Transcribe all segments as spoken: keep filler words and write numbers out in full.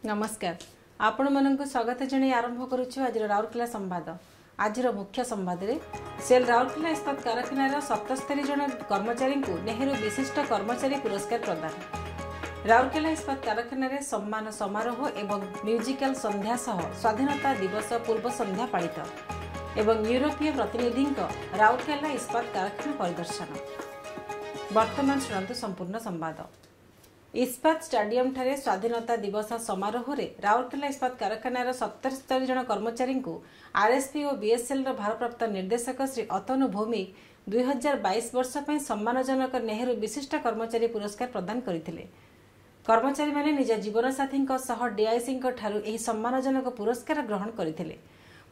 ନମସ୍କାର ଆପଣମାନଙ୍କୁ ସ୍ୱାଗତ ଜଣାଇ ଆରମ୍ଭ କରୁଛୁ ଆଜିର ରାଉରକେଲା ସମ୍ବାଦ ଆଜିର ମୁଖ୍ୟ ସମ୍ବାଦରେ ସେଲ୍ ରାଉରକେଲା ଇସ୍ପାତ କାରଖାନାର ସତସ୍ତରୀ ଜଣ କର୍ମଚାରୀଙ୍କୁ ନେହେରୁ ବିଶିଷ୍ଟ କର୍ମଚାରୀ ପୁରସ୍କାର ପ୍ରଦାନ ରାଉରକେଲା ଇସ୍ପାତ କାରଖାନାରେ ସମ୍ମାନ ସମାରୋହ ଏବଂ ମ୍ୟୁଜିକାଲ ସନ୍ଧ୍ୟା ସହ ସ୍ୱାଧୀନତା ଦିବସ ପୂର୍ବ ସନ୍ଧ୍ୟା ପାଳିତ ଏବଂ ୟୁରୋପୀୟ ପ୍ରତିନିଧିଙ୍କ ରାଉରକେଲା ଇସ୍ପାତ କାରଖାନା ପରିଦର୍ଶନ ବର୍ତ୍ତମାନ ଶୁଣନ୍ତୁ ସମ୍ପୂର୍ଣ୍ଣ ସମ୍ବାଦ ଇସ୍ପାତ ଷ୍ଟାଡିୟମଠାରେ ସ୍ୱାଧୀନତା ଦିବସ ସମାରୋହରେ ରାଉରକେଲା ଇସ୍ପାତ କାରଖାନାର ସତସ୍ତରୀ ଜଣ କର୍ମଚାରୀଙ୍କୁ ଆର୍ଏସ୍ପି ଓ ବିଏସ୍ଏଲ୍ର ଭାରପ୍ରାପ୍ତ ନିର୍ଦ୍ଦେଶକ ଶ୍ରୀ ଅତନୁ ଭୌମିକ ଦୁଇ ହଜାର ବାଇଶ ବର୍ଷ ପାଇଁ ସମ୍ମାନଜନକ ନେହେରୁ ବିଶିଷ୍ଟ କର୍ମଚାରୀ ପୁରସ୍କାର ପ୍ରଦାନ କରିଥିଲେ କର୍ମଚାରୀମାନେ ନିଜ ଜୀବନସାଥୀଙ୍କ ସହ ଡିଆଇସିଙ୍କ ଠାରୁ ଏହି ସମ୍ମାନଜନକ ପୁରସ୍କାର ଗ୍ରହଣ କରିଥିଲେ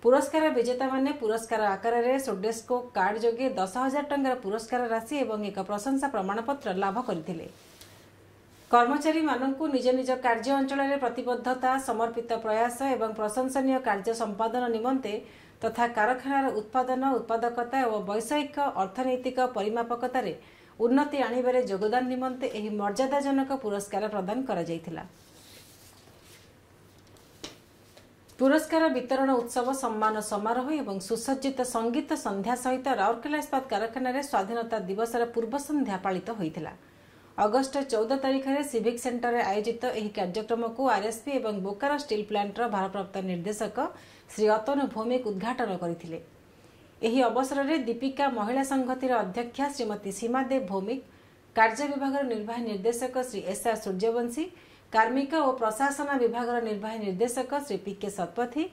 ପୁରସ୍କାର ବିଜେତାମାନେ ପୁରସ୍କାର ଆକାରରେ ସୋଡେସ୍କୋ କାର୍ଡ ଯୋଗେ ଦଶ ହଜାର ଟଙ୍କାର ପୁରସ୍କାର ରାଶି ଏବଂ ଏକ ପ୍ରଶଂସା ପ୍ରମାଣପତ୍ର ଲାଭ କରିଥିଲେ କର୍ମଚାରୀମାନଙ୍କୁ ନିଜ ନିଜ କାର୍ଯ୍ୟ ଅଞ୍ଚଳରେ ପ୍ରତିବଦ୍ଧତା ସମର୍ପିତ ପ୍ରୟାସ ଏବଂ ପ୍ରଶଂସନୀୟ କାର୍ଯ୍ୟ ସମ୍ପାଦନ ନିମନ୍ତେ ତଥା କାରଖାନାର ଉତ୍ପାଦନ ଉତ୍ପାଦକତା ଓ ବୈଷୟିକ ଅର୍ଥନୈତିକ ପରିମାପକତାରେ ଉନ୍ନତି ଆଣିବାରେ ଯୋଗଦାନ ନିମନ୍ତେ ଏହି ମର୍ଯ୍ୟାଦାଜନକ ପୁରସ୍କାର ପ୍ରଦାନ କରାଯାଇଥିଲା ପୁରସ୍କାର ବିତରଣ ଉତ୍ସବ ସମ୍ମାନ ସମାରୋହ ଏବଂ ସୁସଜ୍ଜିତ ସଙ୍ଗୀତ ସନ୍ଧ୍ୟା ସହିତ ରାଉରକେଲା ଇସ୍ପାତ କାରଖାନାରେ ସ୍ୱାଧୀନତା ଦିବସର ପୂର୍ବ ସନ୍ଧ୍ୟା ପାଳିତ ହୋଇଥିଲା ଅଗଷ୍ଟ ଚଉଦ ତାରିଖରେ ସିଭିକ୍ ସେଣ୍ଟରରେ ଆୟୋଜିତ ଏହି କାର୍ଯ୍ୟକ୍ରମକୁ ଆର୍ଏସ୍ପି ଏବଂ ବୋକାରୋ ଷ୍ଟିଲ୍ ପ୍ଲାଣ୍ଟର ଭାରପ୍ରାପ୍ତ ନିର୍ଦ୍ଦେଶକ ଶ୍ରୀ ଅତନୁ ଭୌମିକ ଉଦ୍ଘାଟନ କରିଥିଲେ ଏହି ଅବସରରେ ଦୀପିକା ମହିଳା ସଂହତିର ଅଧ୍ୟକ୍ଷା ଶ୍ରୀମତୀ ସୀମାଦେବ ଭୌମିକ କାର୍ଯ୍ୟ ବିଭାଗର ନିର୍ବାହୀ ନିର୍ଦ୍ଦେଶକ ଶ୍ରୀ ଏସ୍ ଆର୍ ସୂର୍ଯ୍ୟବଂଶୀ କାର୍ମିକ ଓ ପ୍ରଶାସନ ବିଭାଗର ନିର୍ବାହୀ ନିର୍ଦ୍ଦେଶକ ଶ୍ରୀ ପି କେ ଶତପଥୀ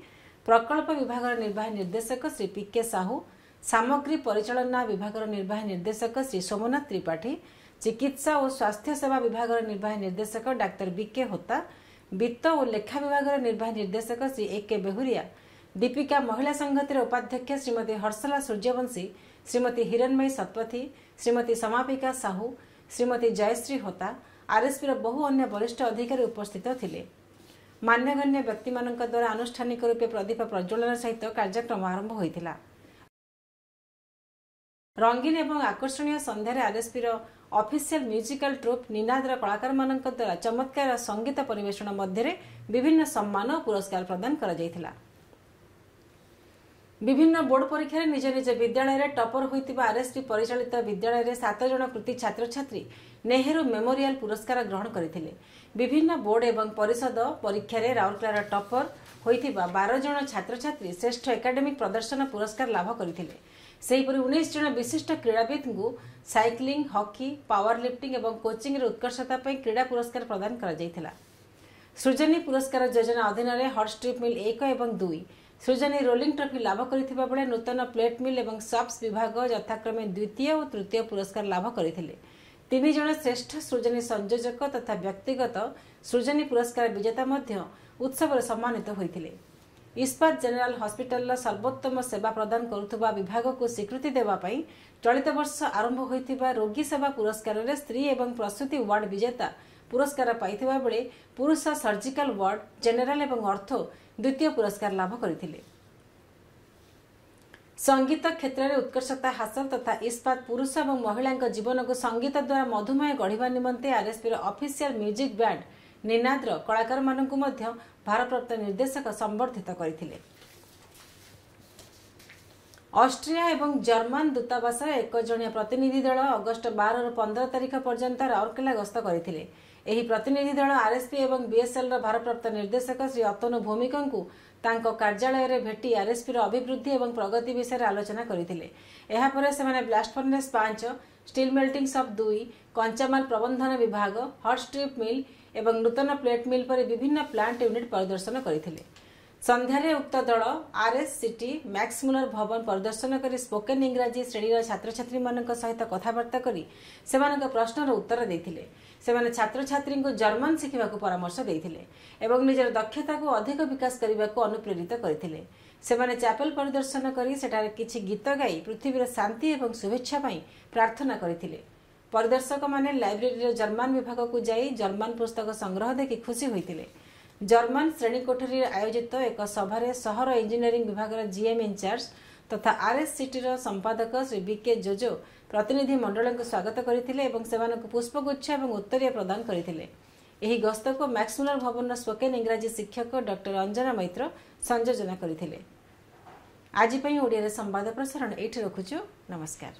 ପ୍ରକଳ୍ପ ବିଭାଗର ନିର୍ବାହୀ ନିର୍ଦ୍ଦେଶକ ଶ୍ରୀ ପି କେ ସାହୁ ସାମଗ୍ରୀ ପରିଚାଳନା ବିଭାଗର ନିର୍ବାହୀ ନିର୍ଦ୍ଦେଶକ ଶ୍ରୀ ସୋମନାଥ ତ୍ରିପାଠୀ ଚିକିତ୍ସା ଓ ସ୍ୱାସ୍ଥ୍ୟ ସେବା ବିଭାଗର ନିର୍ବାହୀ ନିର୍ଦ୍ଦେଶକ ଡାକ୍ତର ବି କେ ହୋତା ବିତ୍ତ ଓ ଲେଖା ବିଭାଗର ନିର୍ବାହୀ ନିର୍ଦ୍ଦେଶକ ଶ୍ରୀ ଏ କେ ବେହୁରିଆ ଦୀପିକା ମହିଳା ସଂହତିର ଉପାଧ୍ୟକ୍ଷା ଶ୍ରୀମତୀ ହର୍ଷଲା ସୂର୍ଯ୍ୟବଂଶୀ ଶ୍ରୀମତୀ ହିରଣ୍ମୟୀ ଶତପଥୀ ଶ୍ରୀମତୀ ସମାପିକା ସାହୁ ଶ୍ରୀମତୀ ଜୟଶ୍ରୀ ହୋତା ଆର୍ଏସ୍ପିର ବହୁ ଅନ୍ୟ ବରିଷ୍ଠ ଅଧିକାରୀ ଉପସ୍ଥିତ ଥିଲେ ମାନ୍ୟଗଣ୍ୟ ବ୍ୟକ୍ତିମାନଙ୍କ ଦ୍ୱାରା ଆନୁଷ୍ଠାନିକ ରୂପେ ପ୍ରଦୀପ ପ୍ରଜ୍ୱଳନ ସହିତ କାର୍ଯ୍ୟକ୍ରମ ଆରମ୍ଭ ହୋଇଥିଲା ରଙ୍ଗୀନ ଏବଂ ଆକର୍ଷଣୀୟ ସନ୍ଧ୍ୟାରେ ଆର୍ଏସ୍ପିର ଅଫିସିଆଲ ମ୍ୟୁଜିକାଲ ଟ୍ରୁପ୍ ନିନାଦର କଳାକାରମାନଙ୍କ ଦ୍ୱାରା ଚମତ୍କାର ସଙ୍ଗୀତ ପରିବେଷଣ ମଧ୍ୟରେ ବିଭିନ୍ନ ସମ୍ମାନ ଓ ପୁରସ୍କାର ପ୍ରଦାନ କରାଯାଇଥିଲା ବିଭିନ୍ନ ବୋର୍ଡ ପରୀକ୍ଷାରେ ନିଜ ନିଜ ବିଦ୍ୟାଳୟରେ ଟପର ହୋଇଥିବା ଆର୍ଏସ୍ପି ପରିଚାଳିତ ବିଦ୍ୟାଳୟରେ ସାତ ଜଣ କୃତି ଛାତ୍ରଛାତ୍ରୀ ନେହେରୁ ମେମୋରିଆଲ ପୁରସ୍କାର ଗ୍ରହଣ କରିଥିଲେ ବିଭିନ୍ନ ବୋର୍ଡ ଏବଂ ପରିଷଦ ପରୀକ୍ଷାରେ ରାଉରକେଲାର ଟପର ହୋଇଥିବା ବାର ଜଣ ଛାତ୍ରଛାତ୍ରୀ ଶ୍ରେଷ୍ଠ ଏକାଡେମିକ୍ ପ୍ରଦର୍ଶନ ପୁରସ୍କାର ଲାଭ କରିଥିଲେ ସେହିପରି ଉଣେଇଶ ଜଣ ବିଶିଷ୍ଟ କ୍ରୀଡ଼ାବିତ୍ଙ୍କୁ ସାଇକ୍ଲିଂ ହକି ପାୱାର ଲିଫ୍ଟିଂ ଏବଂ କୋଚିଂରେ ଉତ୍କର୍ଷତା ପାଇଁ କ୍ରୀଡ଼ା ପୁରସ୍କାର ପ୍ରଦାନ କରାଯାଇଥିଲା ସୃଜନୀ ପୁରସ୍କାର ଯୋଜନା ଅଧୀନରେ ହଟ୍ ଷ୍ଟ୍ରିପ୍ ମିଲ୍ ଏକ ଏବଂ ଦୁଇ ସୃଜନୀ ରୋଲିଂ ଟ୍ରଫି ଲାଭ କରିଥିବା ବେଳେ ନୂତନ ପ୍ଲେଟ୍ ମିଲ୍ ଏବଂ ସପ୍ସ ବିଭାଗ ଯଥାକ୍ରମେ ଦ୍ୱିତୀୟ ଓ ତୃତୀୟ ପୁରସ୍କାର ଲାଭ କରିଥିଲେ ତିନି ଜଣ ଶ୍ରେଷ୍ଠ ସୃଜନୀ ସଂଯୋଜକ ତଥା ବ୍ୟକ୍ତିଗତ ସୃଜନୀ ପୁରସ୍କାର ବିଜେତା ମଧ୍ୟ ଉତ୍ସବରେ ସମ୍ମାନିତ ହୋଇଥିଲେ ଇସ୍ପାତ ଜେନେରାଲ ହସ୍ପିଟାଲର ସର୍ବୋତ୍ତମ ସେବା ପ୍ରଦାନ କରୁଥିବା ବିଭାଗକୁ ସ୍ୱୀକୃତି ଦେବା ପାଇଁ ଚଳିତ ବର୍ଷ ଆରମ୍ଭ ହୋଇଥିବା ରୋଗୀ ସେବା ପୁରସ୍କାରରେ ସ୍ତ୍ରୀ ଏବଂ ପ୍ରସୂତି ୱାର୍ଡ ବିଜେତା ପୁରସ୍କାର ପାଇଥିବା ବେଳେ ପୁରୁଷ ସର୍ଜିକାଲ ୱାର୍ଡ ଜେନେରାଲ ଏବଂ ଅର୍ଥୋ ଦ୍ୱିତୀୟ ପୁରସ୍କାର ଲାଭ କରିଥିଲେ ସଙ୍ଗୀତ କ୍ଷେତ୍ରରେ ଉତ୍କର୍ଷତା ହାସଲ ତଥା ଇସ୍ପାତ ପୁରୁଷ ଏବଂ ମହିଳାଙ୍କ ଜୀବନକୁ ସଙ୍ଗୀତ ଦ୍ୱାରା ମଧୁମୟ ଗଢ଼ିବା ନିମନ୍ତେ ଆର୍ଏସ୍ପିର ଅଫିସିଆଲ ମ୍ୟୁଜିକ୍ ବ୍ୟାଣ୍ଡ ନିନାଦର କଳାକାରମାନଙ୍କୁ ମଧ୍ୟ ଭାରପ୍ରାପ୍ତ ନିର୍ଦ୍ଦେଶକ ସମ୍ବର୍ଦ୍ଧିତ କରିଥିଲେ ଅଷ୍ଟ୍ରିଆ ଏବଂ ଜର୍ମାନ ଦୂତାବାସର ଏକ ଜଣିଆ ପ୍ରତିନିଧି ଦଳ ଅଗଷ୍ଟ ବାରରୁ ପନ୍ଦର ତାରିଖ ପର୍ଯ୍ୟନ୍ତ ରାଉରକେଲା ଗସ୍ତ କରିଥିଲେ ଏହି ପ୍ରତିନିଧି ଦଳ ଆର୍ଏସ୍ପି ଏବଂ ବିଏସ୍ଏଲ୍ର ଭାରପ୍ରାପ୍ତ ନିର୍ଦ୍ଦେଶକ ଶ୍ରୀ ଅତନୁ ଭୌମିକଙ୍କୁ ତାଙ୍କ କାର୍ଯ୍ୟାଳୟରେ ଭେଟି ଆର୍ଏସ୍ପିର ଅଭିବୃଦ୍ଧି ଏବଂ ପ୍ରଗତି ବିଷୟରେ ଆଲୋଚନା କରିଥିଲେ ଏହାପରେ ସେମାନେ ବ୍ଲାଷ୍ଟ ଫର୍ନେସ୍ ପାଞ୍ଚ ଷ୍ଟିଲ୍ ମେଲ୍ଟିଂ ସପ୍ ଦୁଇ କଞ୍ଚାମାଲ ପ୍ରବନ୍ଧନ ବିଭାଗ ହଟ୍ ଷ୍ଟ୍ରିପ୍ ମିଲ୍ ଏବଂ ନୂତନ ପ୍ଲେଟ୍ ମିଲ୍ ପରି ବିଭିନ୍ନ ପ୍ଲାଣ୍ଟ ୟୁନିଟ୍ ପରିଦର୍ଶନ କରିଥିଲେ ସନ୍ଧ୍ୟାରେ ଉକ୍ତ ଦଳ ଆର୍ଏସ୍ ସିଟି ମ୍ୟାକ୍ସମୁଲର ଭବନ ପରିଦର୍ଶନ କରି ସ୍ପୋକେନ୍ ଇଂରାଜୀ ଶ୍ରେଣୀର ଛାତ୍ରଛାତ୍ରୀମାନଙ୍କ ସହିତ କଥାବାର୍ତ୍ତା କରି ସେମାନଙ୍କ ପ୍ରଶ୍ନର ଉତ୍ତର ଦେଇଥିଲେ ସେମାନେ ଛାତ୍ରଛାତ୍ରୀଙ୍କୁ ଜର୍ମାନ ଶିଖିବାକୁ ପରାମର୍ଶ ଦେଇଥିଲେ ଏବଂ ନିଜର ଦକ୍ଷତାକୁ ଅଧିକ ବିକାଶ କରିବାକୁ ଅନୁପ୍ରେରିତ କରିଥିଲେ ସେମାନେ ଚାପେଲ ପରିଦର୍ଶନ କରି ସେଠାରେ କିଛି ଗୀତ ଗାଇ ପୃଥିବୀର ଶାନ୍ତି ଏବଂ ଶୁଭେଚ୍ଛା ପାଇଁ ପ୍ରାର୍ଥନା କରିଥିଲେ ପରିଦର୍ଶକମାନେ ଲାଇବ୍ରେରୀର ଜର୍ମାନ ବିଭାଗକୁ ଯାଇ ଜର୍ମାନ ପୁସ୍ତକ ସଂଗ୍ରହ ଦେଖି ଖୁସି ହୋଇଥିଲେ ଜର୍ମାନ ଶ୍ରେଣୀ କୋଠରୀରେ ଆୟୋଜିତ ଏକ ସଭାରେ ସହର ଇଞ୍ଜିନିୟରିଂ ବିଭାଗର ଜିଏମ୍ ଇନଚାର୍ଜ ତଥା ଆର୍ଏସ୍ସିଟିର ସମ୍ପାଦକ ଶ୍ରୀ ବି କେ ଜୋଜୋ ପ୍ରତିନିଧି ମଣ୍ଡଳୀଙ୍କୁ ସ୍ୱାଗତ କରିଥିଲେ ଏବଂ ସେମାନଙ୍କୁ ପୁଷ୍ପଗୁଚ୍ଛ ଏବଂ ଉତ୍ତରୀୟ ପ୍ରଦାନ କରିଥିଲେ ଏହି ଗସ୍ତକୁ ମ୍ୟାକ୍ସମୁଲର ଭବନର ସ୍ପୋକେନ୍ ଇଂରାଜୀ ଶିକ୍ଷକ ଡକ୍ଟର ଅଞ୍ଜନା ମୈତ୍ର ସଂଯୋଜନା କରିଥିଲେ। ଆଜି ପାଇଁ ଓଡ଼ିଆରେ ସମ୍ବାଦ ପ୍ରସାରଣ ଏଇଠି ରଖୁଛୁ। ନମସ୍କାର।